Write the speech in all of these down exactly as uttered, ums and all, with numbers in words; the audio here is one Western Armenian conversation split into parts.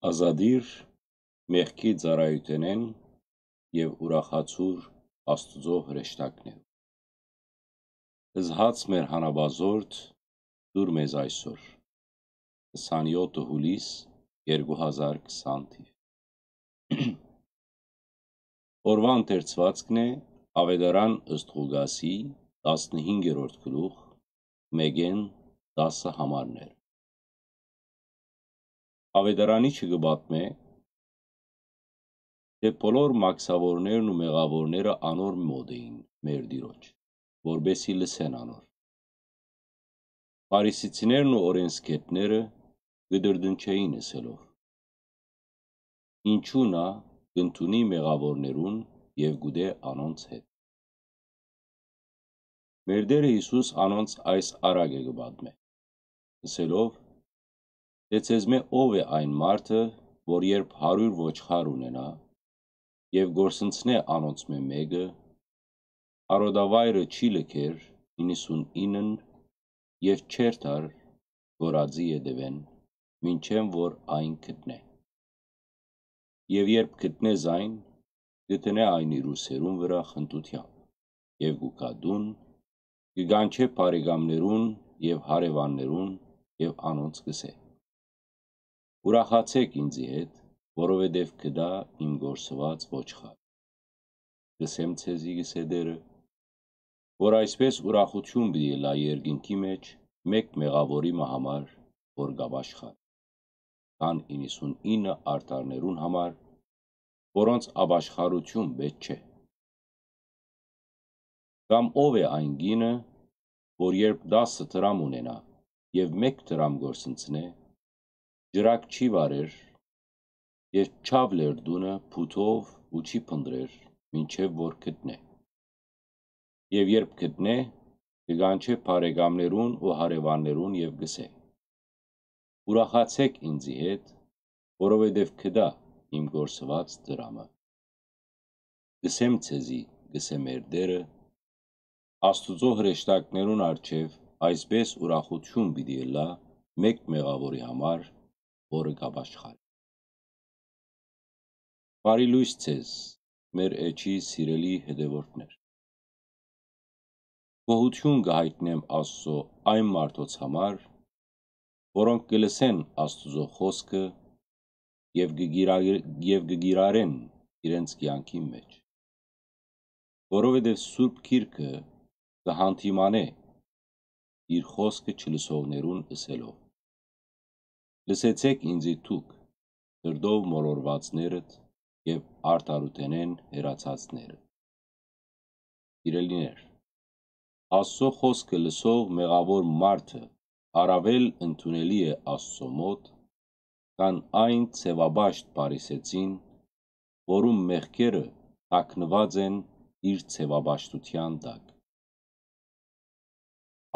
Ազատիր մեղքի ծառայութենէն եւ ուրախացուր Աստուծոյ հրեշտակներով։ Զհաց մեր հանապազորդ, տուր մեզ այսօր, քսանեօթը յուլիս երկու հազար քսան թիւ։ Օրուան ընթերցուածքն է Աւետարան ըստ Ղուկասի, տասնհինգերորդ գլուխ, մէկէն տասը համարներ։ Աւետարանիչը կը պատմէ, թէ բոլոր մաքսաւորներն ու մեղաւորները անոր մօտ էին մեր Տիրոջ, որպէսզի լսեն անոր։ Փարիսեցիներն ու օրէնսգետները կը տրտնջէին ըսելով. «Ինչո՞ւ նա կ'ընդունի մեղաւորներուն եւ կ'ուտէ անոնց հետ»։ Մեր Տէրը Յիսուս անոնց այս առակը կը պատմէ, ըսելով. «Թէ ձեզմէ ո՞վ է այն մարդը, որ երբ հարիւր ոչխար ունենայ եւ կորսնցնէ անոնցմէ մէկը, արոտավայրը չի լքեր իննսունինն եւ չ'երթար կորածի ետեւէն, մինչեւ որ այն գտնէ։ Եւ երբ գտնէ զայն, կը դնէ այն իր ուսերուն վրայ խնդութեամբ, եւ կու գայ տուն, կը կանչէ բարեկամներուն եւ հարեւաններուն եւ անոնց կ'ըսէ. "Ուրախացէք ինծի հետ, որովհետեւ գտայ իմ կորսուած ոչխար"։ Կ'ըսեմ ձեզի, կ'ըսէ Տէրը, որ այսպէս ուրախութիւն պիտի ըլլայ երկնքի մէջ մէկ մեղաւորի մը համար, որ կ'ապաշխարէ, քան իննսունինը արդարներուն համար, որոնց ապաշխարութիւն պէտք չէ։ Կամ ո՞վ է այն կինը, որ երբ տասը դրամ ունենայ եւ մէկ դրամ կորսնցնէ, ճրագ չի վառեր եւ չ'աւլէր տունը փութով ու չի փնտռեր, մինչեւ որ գտնէ։ Եւ երբ գտնէ, կը կանչէ բարեկամներուն ու հարեւաններուն եւ կ'ըսէ. "Ուրախացէք ինծի հետ, որովհետեւ գտայ իմ կորսուած դրամը"։ Կ'ըսեմ ձեզի, կ'ըսէ մեր Տէրը, Աստուծոյ հրեշտակներուն առջեւ այսպէս ուրախութիւն պիտի ըլլայ մէկ մեղաւորի համար, որը կ'ապաշխարէ։ Բարի լոյս ձեզ, մեր էջի սիրելի հետեւորդներ։ Գոհութիւն կը յայտնեմ Աստծոյ այն մարդոց համար, որոնք կը լսեն Աստուծոյ խօսքը եւ կը կիրա-, եւ կը կիրառեն իրենց կեանքին մէջ։ Որովհետեւ Սուրբ Գիրքը կը յանդիմանէ իր խօսքը չլսողներուն, ըսելով. "Լսեցէք ինծի դուք, դրդով մոլորուածներդ եւ արդարութենէն հեռացածներդ"։ Իրելիներ, Աստուծոյ խօսքը լսող մեղաւոր մարդը առաւել ընդունելի է Աստուծոյ մօտ, քան այն ձեւապաշտ Փարիսեցին, որուն մեղքերը թաքնուած են իր ձեւապաշտութեան տակ։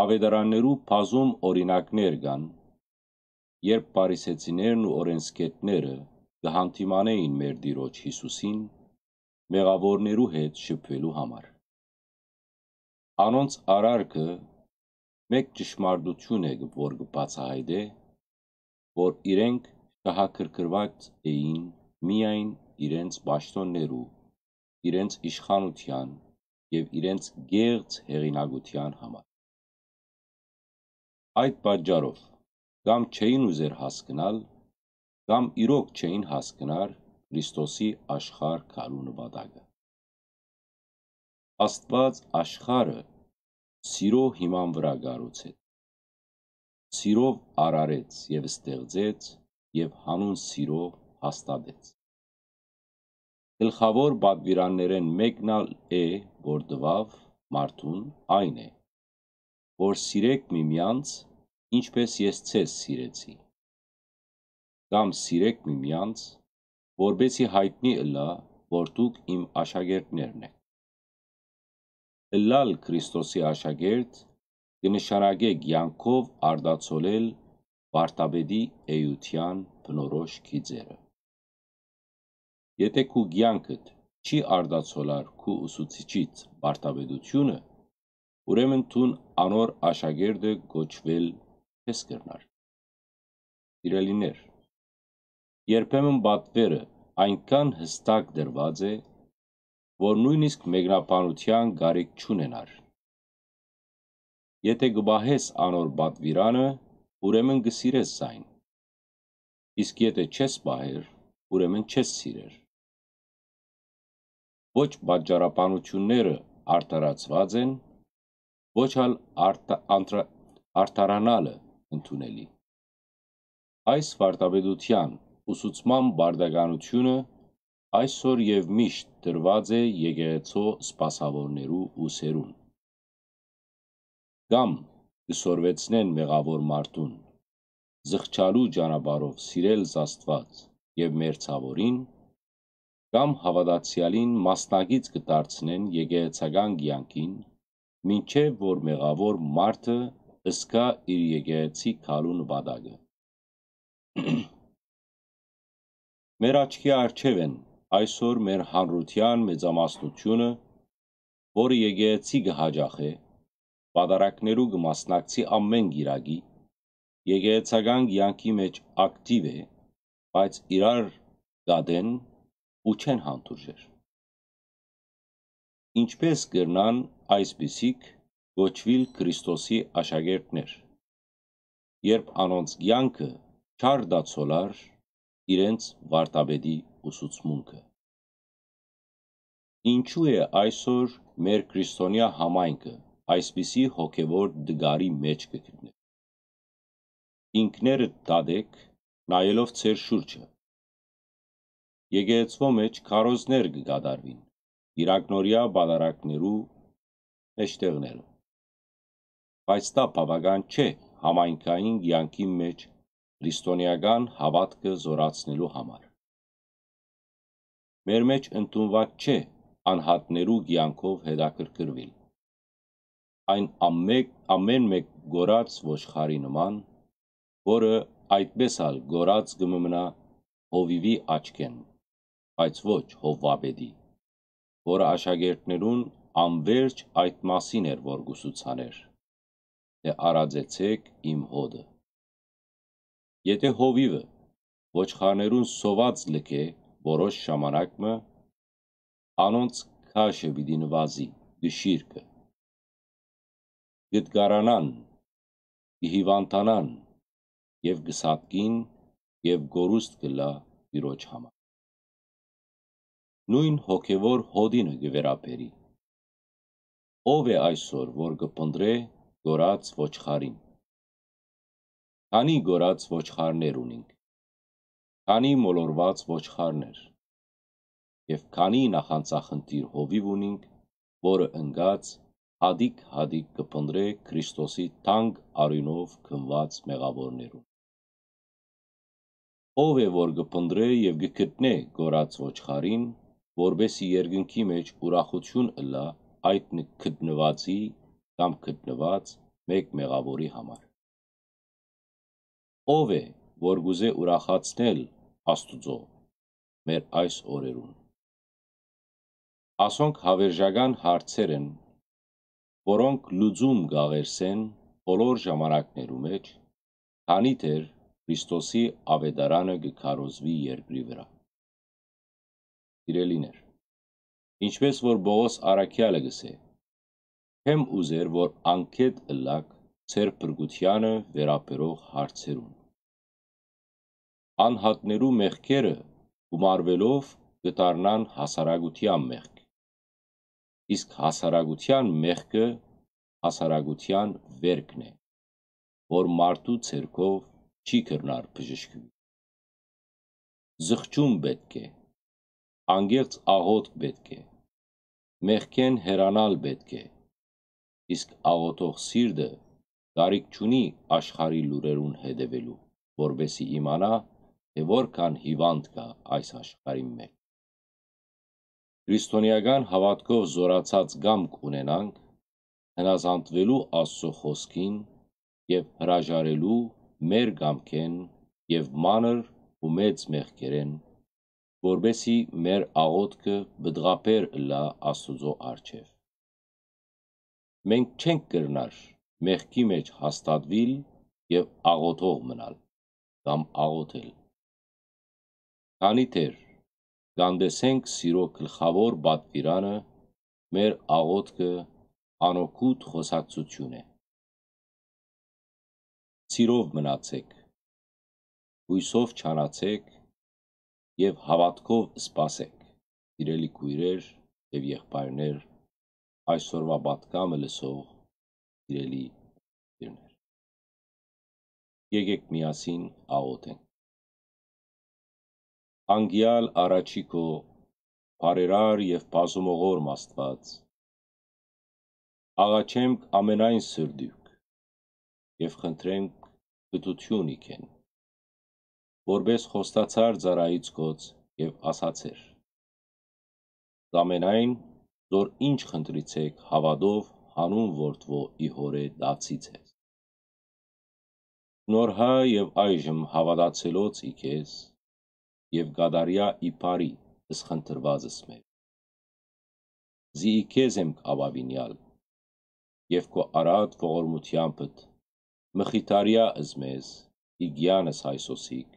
Աւետարաններու բազում օրինակներ կան, երբ Փարիսեցիներն ու օրէնսգետները կը յանդիմանէին մեր Տիրոջ Յիսուսին մեղաւորներու հետ շփուելու համար։ Անոնց արարքը մէկ ճշմարտութիւն է, որ կը բացայայտէ, որ իրենք շահագրգռուած էին միայն իրենց պաշտօններու, իրենց իշխանութեան եւ իրենց կեղծ հեղինակութեան համար։ Այդ պատճառով կամ չէին ուզեր հասկնալ, կամ իրոք չէին հասկնար Քրիստոսի աշխարհ գալու նպատակը։ Աստուած աշխարհը սիրոյ հիման վրայ կառուցեց։ Սիրով արարեց եւ ստեղծեց եւ յանուն սիրոյ հաստատեց։ Գլխաւոր պատուիրաններէն մէկն ալ է, որ տուաւ մարդուն, այն է, որ սիրէք միմեանց, ինչպէս ես ձեզ սիրեցի։ Կամ սիրէք միմեանց, որպեսզի յայտնի ըլլայ, որ դուք իմ աշակերտներն էք։ Ըլլալ Քրիստոսի աշակերտ կը նշանակէ կեանքով արտացոլել վարդապետի էութեան բնորոշ գիծերը։ Եթէ քու կեանքդ չի արտացոլար քու ուսուցիչիդ վարդապետութիւնը, ուրեմն դուն անոր աշակերտը կոչուել չես կրնար։ Իրելիներ, Երբեմն պատուերը այնքան յստակ դրուած է, որ նոյնիսկ մեկնաբանութեան կարիք չունենար։ Եթէ կը պահես անոր պատուիրանը, ուրեմն կը սիրես զայն, իսկ եթէ չես պահեր, ուրեմն չես սիրեր։ Ոչ պատճառաբանութիւնները արդարացուած են, ոչ ալ արդա-, անտրա-, արդարանալը ընդունելի։ Այս վարդապետութեան ուսուցման պարտականութիւնը այսօր եւ միշտ դրուած է եկեղեցոյ սպասաւորներու ուսերուն։ Կամ կը սորվեցնեն մեղաւոր մարդուն, զղջալու ճանապարհով սիրել Աստուած եւ մերձաւորին, կամ հաւատացեալին մասնակից կը դարձնեն եկեղեցական կեանքին, մինչեւ որ մեղաւոր մարդը ըսկայ իր եկեղեցի գալու նպատակը։ Մեր աչքի առջեւ են այսօր մեր հանրութեան մեծամասնութիւնը, որը եկեղեցի կը յաճախէ, պատարագներու կը մասնակցի ամէն կիրակի, եկեղեցական կեանքի մէջ ակտիվ է, բայց իրար կ'ատեն ու չեն հանդուրժեր։ Ինչպէս կրնան այսպիսիք կոչուիլ Քրիստոսի աշակերտներ, երբ անոնց կեանքը չարտացոլար իրենց վարդապետի ուսուցմունքը։ Ինչու է այսօր մեր քրիստոնեայ համայնքը այսպիսի հոգեվոր տկարի մէջ կը գտնէ։ Ինքներդ դատէք, նայելով ձեր շուրջը։ Եկեղեցւոյ մէջ քարոզներ կը կատարուին, կիրակնօրեայ պատարագներու մէջտեղները։ Բայց դա բաւական չէ համայնքային կեանքի մէջ քրիստոնեական հաւատքը զօրացնելու համար։ Մեր մէջ ընդունուած չէ անհատներու կեանքով հետաքրքրուիլ։ Այն ամէ-, ամէն մէկ կորած ոչխարի նման, որը այդպէս ալ կորած կը մնայ հովիւի աչքէն, բայց ոչ հովուապետի, որը աշակերտներուն անվերջ այդ մասին էր որ կուսուցանէր, թէ «Արածեցէք իմ հոտը»։ Եթէ հովիւը ոչխարներուն սոված լքէ որոշ ժամանակ մը, անոնց քաշը պիտի նուազի, կը շիրկը, կը տկարանան, կը հիւանդանան եւ կը սատկին եւ կորուստ կ'ըլլայ Տիրոջ համար։ Նոյն հոգեվոր հոտինը կը վերաբերի։ Ո՞վ է այսօր որ կը փնտռէ կորած ոչխարին։ Քանի՞ կորած ոչխարներ ունինք, քանի՞ մոլորուած ոչխարներ եւ քանի՞ նախանձախնդիր հովիւ ունինք, որը ընկած հատիկ-հատիկ կը փնտռէ Քրիստոսի թանկ արիւնով քննուած մեղաւորներուն։ Ո՞վ է որ կը փնտռէ եւ կը գտնէ կորած ոչխարին, որպէս զի երկնքի մէջ ուրախութիւն ըլլայ այդ ն-, գտնուածի կամ գտնուած մէկ մեղաւորի համար։ Ո՞վ է որ կ'ուզէ ուրախացնել Աստուծոյ մեր այս օրերուն։ Ասոնք հաւերժական հարցեր են, որոնք լուծում կ'աղերսեն բոլոր ժամանակներու մէջ, քանի դեռ Քրիստոսի աւետարանը կը քարոզուի երկրի վրայ։ Սիրելիներ, ինչպէս որ Պողոս առաքեալը կ'ըսէ, չեմ ուզեր որ անկէտ ըլլաք ձեր փրկութեանը վերաբերող հարցերուն։ Անհատներու մեղքերը գումարուելով կը դառնան հասարակութեան մեղք, իսկ հասարակութեան մեղքը հասարակութեան վերքն է, որ մարդու ձեռքով չի կրնար բժշկուի։ Զղջում պէտք է, անկեղծ աղօթք պէտք է, մեղքէն հեռանալ պէտք է, իսկ աղօթող սիրտը կարիք չունի աշխարհի լուրերուն հետեւելու, որպէս զի իմանայ, թէ որքան հիւանդ կայ այս աշխարհին մէջ։ Քրիստոնեական հաւատքով զօրացած կամք ունենանք հնազանդուելու Աստուծոյ խօսքին եւ հրաժարելու մեր կամքէն եւ մանր ու մեծ մեղքերէն, որպէս զի մեր աղօթքը պտղաբեր ըլլայ Աստուծոյ առջեւ։ Մենք չենք կրնար մեղքի մէջ հաստատուիլ եւ աղօթող մնալ կամ աղօթել։ Քանի դեռ կ'անտեսենք սիրոյ գլխաւոր պատուիրանը, մեր աղօթքը անօգուտ խօսակցութիւն է։ Սիրով մնացէք, յոյսով չանացէք եւ հաւատքով սպասէք, սիրելի քոյրեր եւ եղբայրներ, այսօրուայ պատգամը լսող սիրելի քոյրեր։ Եկէք միասին աղօթենք։ Անկեալ առաջի քո բարերար եւ բազումողորմ Աստուած, աղաչեմք ամենայն սրտիք եւ խնդրենք գթութիւն իքեն, որպէս խոստացար ծառայից գոց եւ ասացեր. «Ամենայն, զոր ինչ խնդրիցէք հաւատով, հանուն որդուո ի հօրէ դացի ձեզ»։ Նորհայ եւ այժմ հաւատացելոց ի քեզ եւ կատարեայ ի բարի սխնդրուածս մեր։ Զի ի քեզ եմ կ'ապաւինեալ, եւ քո արատ ողորմութեամբդ մխիթարեայ զմեզ ի կեանս այսօսիկ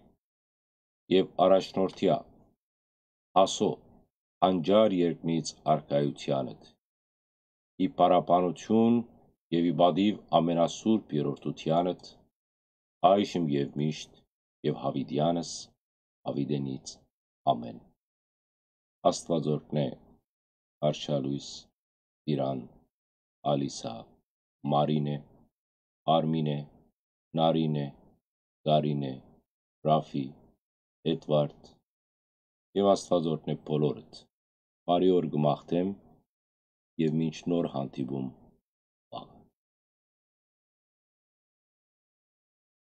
եւ առաջնորդեայ հասո անճար երկնից արքայութեանդ, ի փառաբանութիւն եւ ի պատիւ ամենասուրբ երրորդութեանդ, այժմ եւ միշտ եւ յաւիտեանս յաւիտենից։ Ամէն։ Աստուածօրհնէ, Արշալոյս, Իրան, Ալիսա, Մարինէ, Արմինէ, Նարինէ, Կարինէ, Ռաֆի, Էդվարդ եւ Աստուածօրհնէ բոլորդ։ Բարի օր կը մաղթեմ եւ մինչ նոր հանդիպում